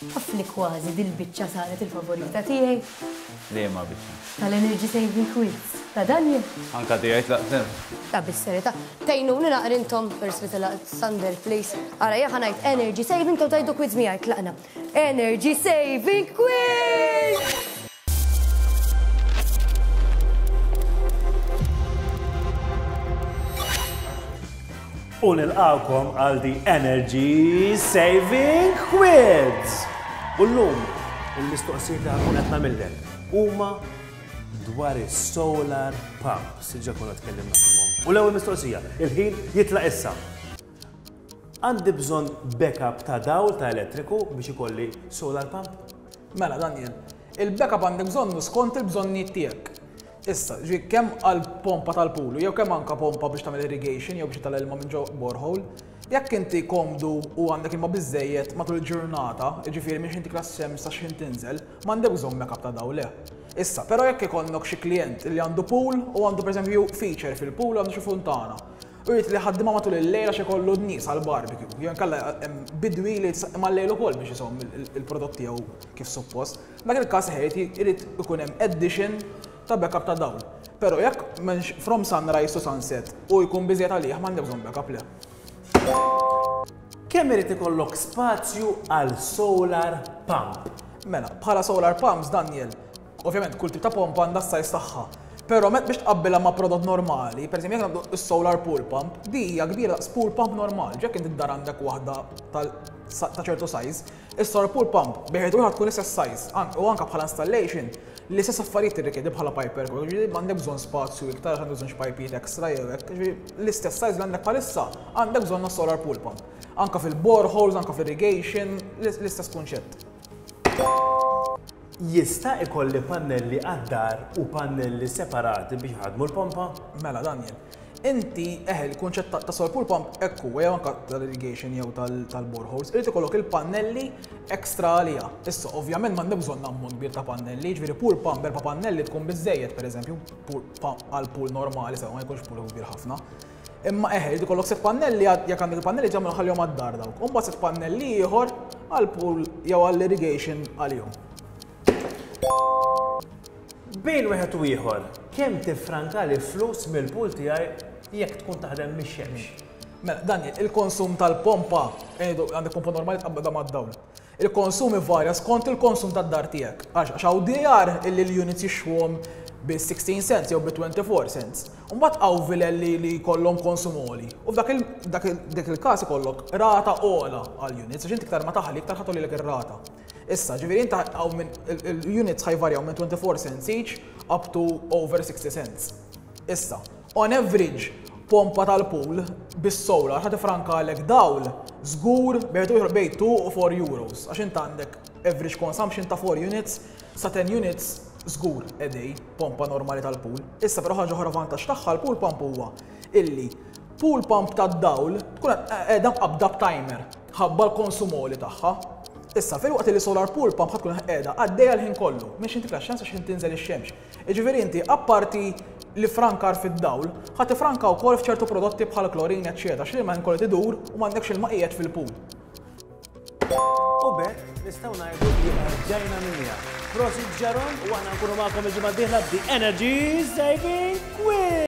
Taf li kważi dil-biċċa saret il-favorita tiegħi? Liema biċċa? Tal-Energy Saving Quiz. Ta' Daniel. Anka tiegħi tlaqt hemm. Ta' bis-serjetà. Tgħinuni naqra intom first li telaqt Sander please. Ara jien ħa ngħid Energy Saving intom tgħidu quiz miegħi tlaqna. Energy Saving Quiz! U nilqgħukom għal The Energy Saving Quiz! U llum il-mistoqsijiet li ħankun qed nagħmillek huma dwar is-solar pumps, diġà konna tkellimna fuqhom. U l-ewwel mistoqsija, il-ħin jitlaq issa. Għandi bżonn backup ta' dawl ta' elettriku biex ikolli solar pump? Mela, Daniel, il-backup għandek bżonnu skont il-bżonnijiet tiegħek. Issa, ġifieri kemm għal pompa tal-pulu jew kemm anke pompa biex tagħmel irrigation jew biex titla' l-ilma minn ġo borehole, jekk inti komdu u għandek ilma biżżejjed matul il-ġurnata, jiġifieri minn x'ħin tikla x-xemx sa x'ħin tinżel, m'għandek bżonn backup ta' dawl le. Issa, però jekk ikollok xi klijent li għandu pool u għandu pereżempju feature fil-pool u għandu xi funtana u jrid li jħaddimha matul il-lejl għax ikollu n-nies għall-barbecue, jew inkella hemm bidwi li jrid isaqqi mal-lejl ukoll biex iżomm il-prodott tiegħu kif suppost, F'dak il-każ irid irid ikun hemm addition ta' backup ta' dawl. Però jekk m'hemmx from sunrise to sunset u jkun biżejjed għalih m'għandek bżonn backup le. Kemm irid ikollok spazju għal solar pump? Mela, bħala solar pumps, Daniel, ovvjament kull tip ta' pompa għandha s-size tagħha. Però met biex tqabbilha ma' prodott normali, pereżempju jekk nagħmlu s-solar pool pump, di hija kbira daqs pool pump normal. Jekk inti d-dar għandek waħda ta' ċertu size, Is-solar pool pump bejn wieħed u ieħor tkun l-istess size u anke bħala installation l-istess affarijiet tirrikjedi bħala pipe work, jiġifieri m'għandek bżonn spazju iktar għax għandek bżonn xi pajpijiet extra jew hekk, jiġifieri l-istess size li għandek bħalissa għandek bżonn għas-solar pool pump. Anke fil-boreholes, anke fl-irrigation, l-istess kunċett. Jista' ikolli pannelli għad-dar u pannelli separati biex iħaddmu l-pompa? Mela Daniel, Inti, eħe, il-kunċett ta' solar pool pump hekk huwa, jew anke tal-irrigation jew tal-boreholes, irid ikollok il-pannelli extra għaliha. Issa, ovvjament m'għandek bżonn ammont kbir ta' pannelli, jiġifieri pool pump b'erba' pannelli tkun biżżejjed, pereżempju, għal pool normali, sewa ma jkunx pool kbir ħafna. Imma eħe, irid ikollok sett pannelli jekk għandek il-pannelli ġa ħallihom għad-dar dawk. U mbagħad sett pannelli ieħor għall-pool jew għall-irrigation għalihom. Bejn wieħed u ieħor, kemm tiffrankali flus mill-pool tiegħi jekk tkun taħdem mix-xemx? Mela, Daniel, il-konsum tal-pompa, ngħidu għandek pompa normali tqabbadha mad-dawl. Il-konsum ivarja skont il-konsum tad-dar tiegħek. Għax għax hawn djar illi l-units jixtruhom bi 16 cents jew bi 24 cents. U mbagħad hawn vilel li li jkollhom konsum għoli. U f'dak il dak il-każ ikollok rata ogħla għall-units għax inti iktar ma taħli iktar ħa tgħollilek ir-rata. Issa, ġifieri inta hawn minn il-units ħa jvarjaw minn 24 cents each up to over 60 cents. Issa, on average, pompa tal-pool bis-solar ħa tifrankalek dawl żgur bejn ieħor bejn 2 u 4 euros għax int għandek average consumption ta' 4 units sa 10 units żgur a day pompa normali tal-pool. Issa però ħaġa oħra vantaġġ tagħha l-pool pump huwa illi pool pump tad-dawl tkun qiegħda mqabbda b'timer. Ħabba l-konsum għoli tagħha. Issa, filwaqt li solar pool pump ħa tkun qiegħda għaddejja l-ħin kollu, minn x'ħin titla' x-xemx sa x'ħin tinżel ix-xemx. Jiġifieri inti apparti l-iffrankar fid-dawl, ħa tiffranka wkoll f'ċertu prodotti bħal klorin eċċetera għax l-ilma ħin kollu qed idur u m'għandekx ilma qiegħed fil-pool. U b'hekk nistgħu ngħidu li erġajna minniha. Prosit Jaron u aħna nkunu magħkom il-ġimgħa d-dieħla b'The Energy Saving Quiz!